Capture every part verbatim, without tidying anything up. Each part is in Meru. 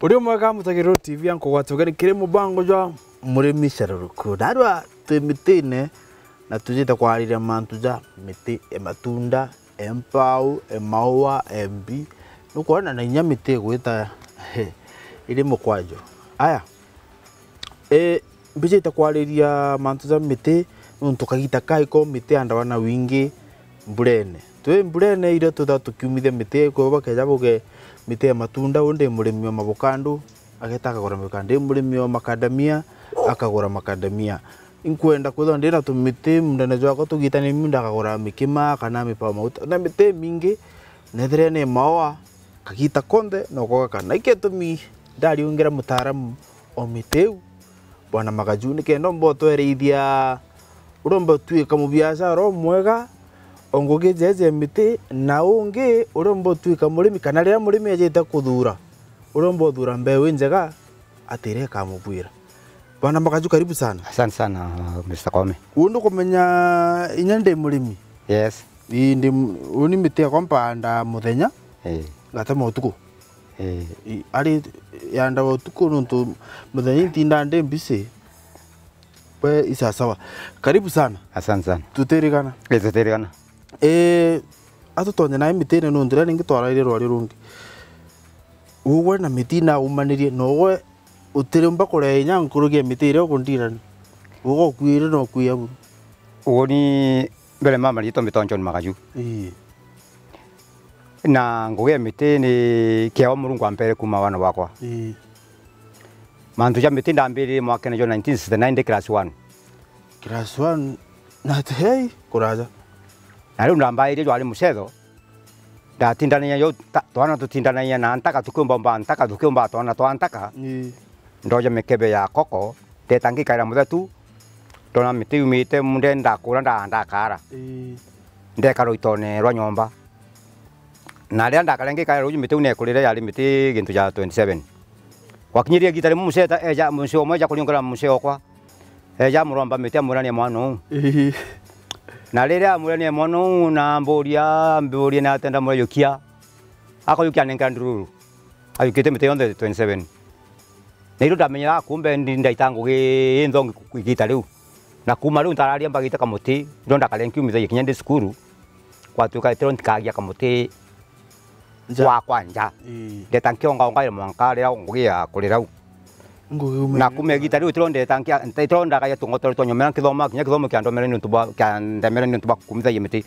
Uri umwega mutagiriro T V ya Nkugwati Ugeni kiri mubango jwa Murimi Caruruku. Narua twi mitine na tujite kwariria mantu ja miti e matunda, e mpau, e maua, e mbi. Nukwona na inya miti igwita iri mukwajo. Aya, e, mbijite kwariria mantu ja miti nuntu kagita kaiko miti yandawa na wingi mburene. Twi mburene iria twithaga tukiumithia miti, kwou bakeja buge miti ya matunda, uu ndi murimi wa mavokando, ageta akagura mavokando, ndi murimi wa makadamia, akagura makadamia. Inkwenda kwithirwa ndi na tumiti mundene jwakwa tugitane, munda akagura mikima kana mipao mauta na miti imingi, nethire ni maoa kagita konthe noko gaka. Na ikio gitumi ndariungira mutaaramu o miti iu, Bwana Magaju, nikenda umba utwereithia uria umba utwika mubiashara umwega o ngugi jeje ya miti, na ungi uria umba utwika murimi, kana riria murimi ejite kuthura, uria umba uthura mbeu injega ati iria ikamubwira. Bwana Magaju, karibu sana. Asante sana, Mister Koome. Uu ndukumenya inya ndi murimi? Yes. Ii, ndi m-, uni miti yakwa mpanda muthenya, eh, ngatema utuku. Eh. I, ari yanda utuku nuntu muthenya intinda ndi busy. We, isasawa. Karibu sana. Asante sana. Tutirigana. Eh, tutirigana. Eh, atutonye nae mitine nuntu riria ringi twaraire rwari rungi. Ugwe na miti naumanirie, na ugwe utirumba kurea inya nkuruki ya miti iria ukundirani. Ugwe ukuire na ukuia buru. Uguni mbere mama riitwa mbitonjoni Magaju. Ii. Na ngugi ya miti ni kiewa Murungu ampere kuuma wana bwakwa. Ii. Mantu ja miti ndambiririe mwakene jwa nineteen sixty-nine ndi class one. Class one? Na ati, hei, kuraja. Na riu ndambairie jwari mucetho, ndatindanagia jo ta-, twana tutindanagia na ntaka tukiumba umba ntaka tukiumba twana twa ntaka. Ii. Ndoja mikebe ya koko, ndeta ngikaira muthetu, ndona miti yumite, ndenda kura nda-, ndakara. Ii. Ndekara ruitone rwa nyomba. Na riria ndakare ngikaira ruuji miti iu nekurire yari miti gintu ja twenty-seven. Gwakinyirie igita rimwe muceta eja, mucii umwe eja kuriungura mucii okwa. Eja amuromba miti amwira ni mwana uu. Ii. Na riria amwira ni mwana uu na amburia, amburia ni atia ndamwira jukia. Akajukia anenkera ndururu. Ajukite miti yonthe twenty-seven. Na irio ndamenyaga kumbe ndi ndaita ngugi inthongi ku-, igita riu. Na kuuma riu ntararia mbagite kamuti, irio ndakare nkiumithagia kinya ndi cukuru, gwatuika itiro ntikagia kamuti nja. Gwakwa nja. Ii. Ndeta nkiongaongaira mwanka riria ngugi ya kurira u. Ngugi umenya. Na kuuma igita riu itiro ndeta nkia-, itiro ndakagia tungotore twa nyomera nkithoma kinya kithomo kia ndomere niuntu bwa, kia ndemere niuntu bwa kumithagia miti.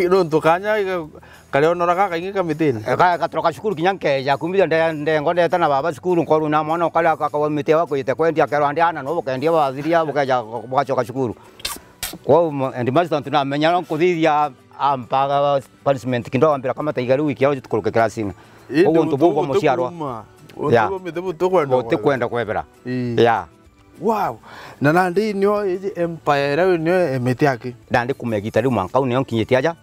Nontu kanya ga-, karionora gakaingi ka mitine. E, ga-, gatoroka cukuru kinya nkeeja kumithia nde-, ndengo ndeta na baba cukuru, nkoru na mwana ukari akakagwa miti wa kwite kwendia, akerwa ndi ana no bukendia bathiria, bukeja bugacoka cukuru. Kwou mo-, headmaster ntu namenya no nkuthithia ampaga punishment kidogo, ambira kama taiga riu wiki yao tukuruke class-ini. Indi. Koguo untu buu bwa muciarwa. Untu bwa miti butukwenda kwebera. Ii. Yeah. Wow. Na nandi nio iji empire iria nio emete aki. Nandi kuuma igita riu mwanka uu nio nkinyite aja.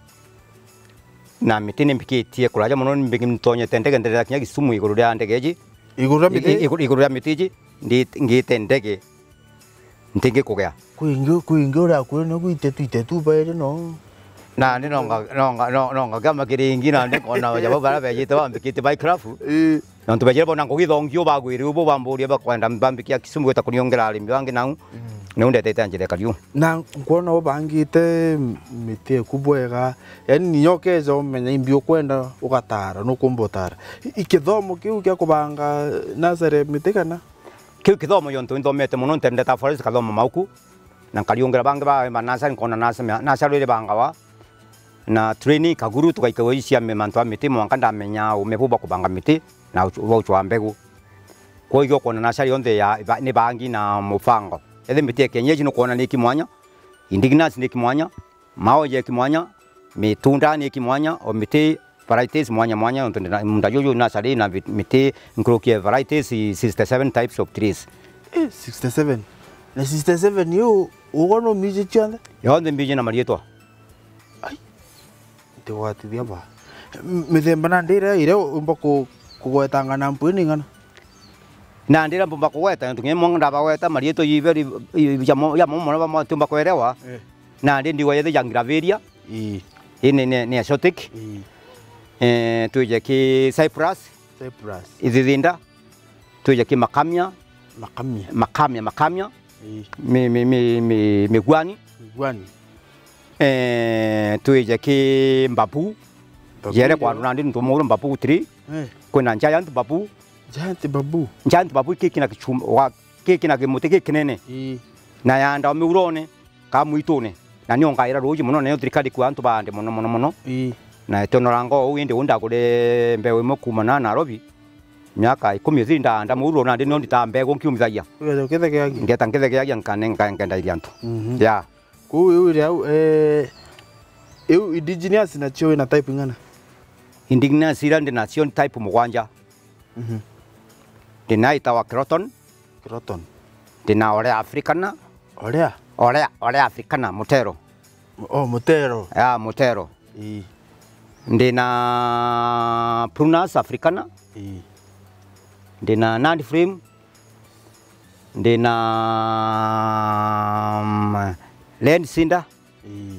Na miti ni mbikitie kuraja mono, ni mbiki-, ntonyete ndege nderera kinya Kisumu iguru ria ndege iji. Iguru ria miti? I-, i-, iguru, iguru ria miti iji, ndi-, ngite ndege. Ntingi kugea. Kwingi, kwingi uria kuri nio gwitetu itetu bairi no. Na ni nonga, nonga, no-, nonga kiama kiringi na ndi kona jabo bara bejite bambikite by craft. Ii. Nontu bejire bona ngugi thongi u bagwiri u bo bamburia bakwenda mbambikia Kisumu gwita kuniongera arimi bangi nau. Mm. Niu ndetete njira ikari u. Na nkwona ubangite miti eku bwega. Yaani niyo ukeja umenya imbi ukwenda ugatara, nukumba utara. I-, ikithomo kiu kia kubanga nasare miti kana? Kiu kithomo jontu nthomete mono, ntendeta forest kathoma mauku. Na nkariungira bangi ba, ba nasari, nkona nasari, nasari iri bangawa. Na train Kaguru, tugaikagua iji cia mi-, mantu a miti, mwanka ndamenya ume buu bwa kubanga miti na ucu-, bwa ucwa mbegu. Kwou iga ukwona nasari yonthe ya, iba-, ni bangi na mubango. Ethi miti ya kienyeji nukwona ni iki mwanya, indigenous ni iki mwanya, maoja iki mwanya, mitunda ni iki mwanya, o miti varieties mwanya mwanya, nontu ndina munda juju nasari na vi-, miti nkuruki ya varieties sixty-seven types of trees. Eh, sixty-seven? Na sixty-seven iu, ugwa no miji cionthe? Yonthe mbiji na marietwa. Ai, ntigwatithia ba. M-, mithemba nandi iria, iria umba ku-, kugwetanga na mpwi ni ing'ana? Nandi iria mbumba kugweta, nontu kinya imwe ndabagweta, marietwa ibe ri-, i-, jamo, jamo mono bamwe tumba kwerewa. Eh. Nandi ndigwa yethi ja gravelia. Ii. Ii ni, ni, ni exotic. Ii. Eh, twije ki cyprus. Cyprus. Ithithinda. twije ki makamia, Makamia. Makamia, makamia, Ii. mi, mi, mi, mi, migwani. Migwani. Eh, twije ki mbabu. Mbabu Jere irio. Kwa nandi ntu muru mbabu three. Eh. Kwina giant mbabu. Giant mbabu. Giant mbabu ki kina kichuma, wa, ki kina kimuti ki kinene. Ii. Na yanda miurone, ka mwitune. Na nio ngaira ruuji mono, na nio thirikari kwa antu baande mono, mono, mono. Ii. Na tionora ngo uu, indi uu ndagure mbeu imwe kuuma na Nairobi. Miaka ikumi ithiri ndaanda muuro, nandi nio nditaa mbegu nkiumithagia. Ugeeta ukithegeagia? Ngeeta nkithegeagia, nkane-, nka-, nkendairia antu. Mhm. Ya. Kuu iu iri au, eh, iu indigenous nacio wina type ing'ana? Indigenous iria ndi nacio ni type mugwanja. Mhm. Ndina itawa Croton. Croton. Ndina Orea Africana. Orea? Orea, Orea Africana, Mutero. Oh, Mutero. Ya, Mutero. Ii. Ndina Prunus Africana. Ii. Ndina Nandi Flame. Ndina, mm, Land Cinder. Ii.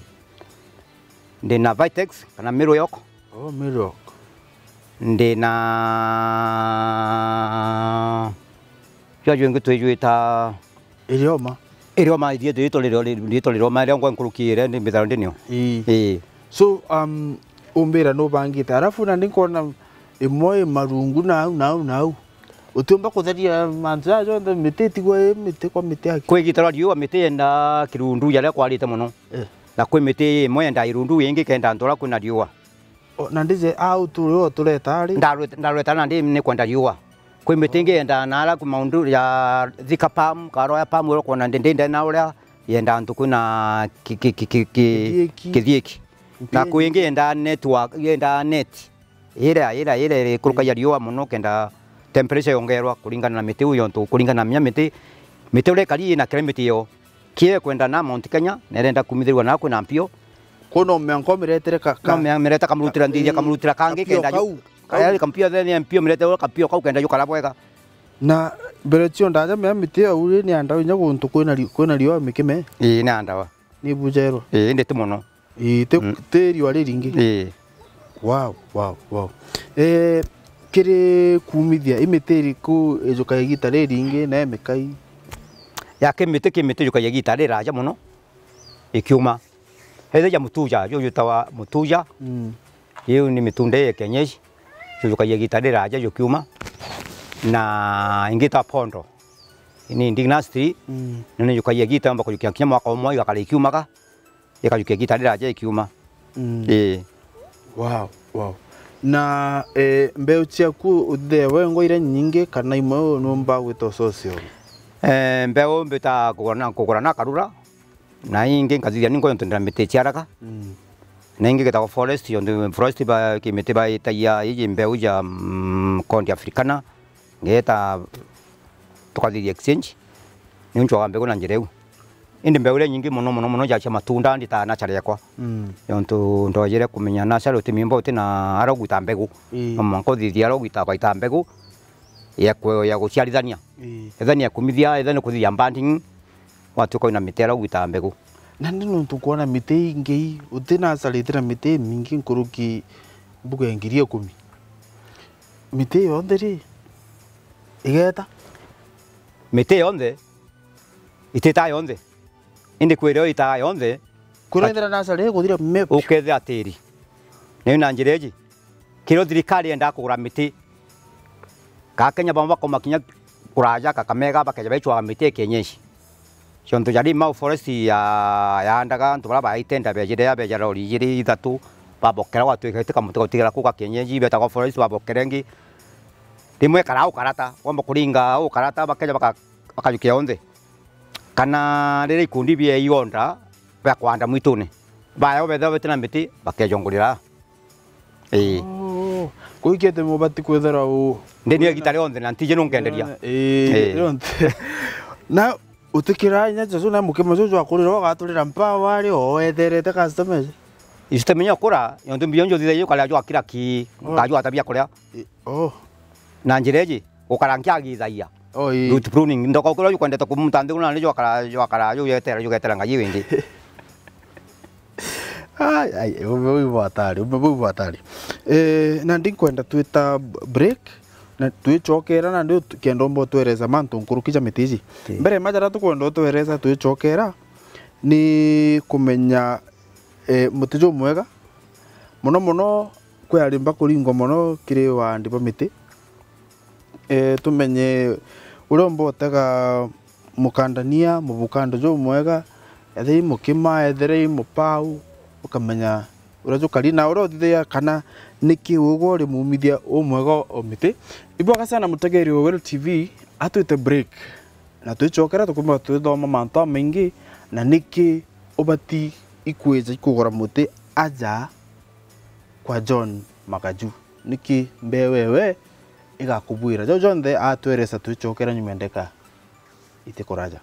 Ndina Vitex kana Middle York. Oh, Middle York. Ndina, jwa jwingi twijwita Irioma. Irioma, ithietwe ritwa ririo, ritwa ririoma, iria ngwa nkuruki iria ndi mbithagirwa ndinio. Ii. Ii. So, um, umbira nubangite. Alafu nandi nkona imwe i marungu nau, nau, nau. Utiumba kutheria mantu jaa jonthe, miti itigwa i miti kwa miti aki. Kwi igita ria riua, miti yenda kirundu jaria kwarite mono. Eh. Na kwi miti imwe yenda irundu, ingi kenda antu aria kwina riua. O, na ndije au turi o tureta ari? Ndarweta, ndarweta nandi ni kwenda riua. Kwi miti ingi yendaa na ara ku maundu ya Thika Palm, Karoya Palm, uria kwona ndi, ndi ndena uria yenda antu kwina ki-, ki-, ki-, ki-, ki-, Kithiiki. Kithiiki. Na Mpinyi. Kwi ingi yendaa network, yendaa net. Iria, iria, iria ikurukagia riua mono kenda temperature yongerwa kuringana na miti iu yontu, kuringana na minya miti, miti uria ikari ina climate iyo. Kie kwenda na Mount Kenya, nerenda kumithirwa na kwina mpio. Kwona umeanka umiretere ka, ka, No mea-, mireta kamurutira ndithia, kamurutira kangi kapio kenda ju-, kau, kau. Kaya kampio then mpio mirete ura kapio kau kenda jukara bwega. Na mbere cio ndaja mea miti au ri ni anda inya guntu kwina ri-, kwina riua mikime? Ii, ni andawa. Ni bujerwa? Ii, indi ti mono. Ii, ti, Mm. Ti riua riringi? Ii. Wow, wow, wow. Eh, kiri kumithia, i miti iriku ijukaga igita riringi na imikai? Ya ki miti, ki miti ijukaga igita riraja mono, ikiuma. Ethija mutuja, ju jwitawa mutuja. Mm. Iu ni mitunda ya kienyeji, jujukagia igita riraja jukiuma. Na ingi ta pondo, ni indigenous tree, Mm. na ni jukagia igita yomba kujukia kinya mwaka umwe igakara ikiumaga, ikajukia igita riraja ikiuma. Mm. Ii. Wow, wow. Na, eh, mbeu ciaku uthithia we ngo iria nyingi kana imwe numba gwita ucocio? Eh, mbeu mbita kugura na, kugura na karura, na ingi nkathithia ni nko yontu ndira miti ciaraga. Mm. Na ingi gitagwa forest, yontu forest ba, ki miti baitagia iji mbeu ja, mm, kondi Africana, ngeeta tukathithia exchange, ni ncwaga mbegu na njira iu. Indi mbeu iria nyingi mono, mono, mono ja cia matunda nditaa nursery yakwa. Mm. Yontu ndojire kumenya nursery utimimba uti na aria ugwita mbegu. Ii. No mwanka uthithia aria ugwita, ugwita mbegu ya ku-, ya guciarithania. Ii. Ethani ya kumithia, ethani kuthithia budding, watuika wina miti aria ugwita mbegu. Na ni nontu kwona miti ingi, uti nursery iti na miti imingi nkuruki mbuga ya ngiri ikumi. Miti yonthe ri, igeta? Miti yonthe, itita yonthe. Indi kwi iria itaa yonthe, Kurethera nursery iguthira mep. Ukethira tiri. Niu na njira iji, kirio thirikari yendaa kugura miti, ka Kenya bamwe bakauma kinya kuraja Kakamega, bakeja baicwaga miti ya kienyeji. Ciontu ja Limau Forest ya, yaandaga antu baria baitenda bejire, beja lori ijiri ithatu, babokera, gwatuika ti kamuti gautigara kuu ka kienyeji, betagwa forest, babokera ingi. Rimwe ikaraa ukarata, wamba kuringa ukarata, bakeja baka-, bakajukia onthe. Kana riria ikundi bia igonda bia kwanda mwitune, baya bethira beti na miti, bakejongurira. Ii. Oh, kuikete mubati kwithira u- Ndi nio igita rionthe na ntiji nunkenderia. Ii, Ii. Rionthe. Na utikira inya Jesu na mukima Jesu akurira ugaturira mpaa wari o wetherete customers? Ici temenya kura, yontu mbio njo thithagia ukaria jwa kira ki, Oh. Ukajwa tabia kuria. Ii, oh. Na njira iji, gukara nkiagithagia. Oh, ii. Root pruning, ndoka ukira ukwendete kumuta nthi kuna ni jwakara, jwakara, jugetera, jugetera ngai wingi. Ai, ai, umbe bwi bwa hatari, umbe bwi bwa hatari. Eh, na ndinkwenda twita b-, break, Na twicokera nandi ut-, kenda umba utweresa mantu nkuruki ja miti iji. Ii. Mbere ma jaria tukwenda utweresa twicokera ni kumenya, eh, muti jumwega. Mono mono kwi arimba kuringwa mono kiri waandi ba miti. Eh, tumenye uria umba utega mukandania, mubukando jumwega, ethira i mukima, ethira i mupau, ukamenya uria jukari, na uria uthithagia kana niki ugwe uri mumithia umwega o miti. Ibwega sana mutegeri wa Weru T V, atwite break, na twicokera tukumba twithoma mantu amaingi, na niki ubati ikwija ikugura muti aja kwa John Makaju. Niki mbee wewe igakubwira? Jau jonthe atweresa twicokera nyuma ya ndeka itikuraja.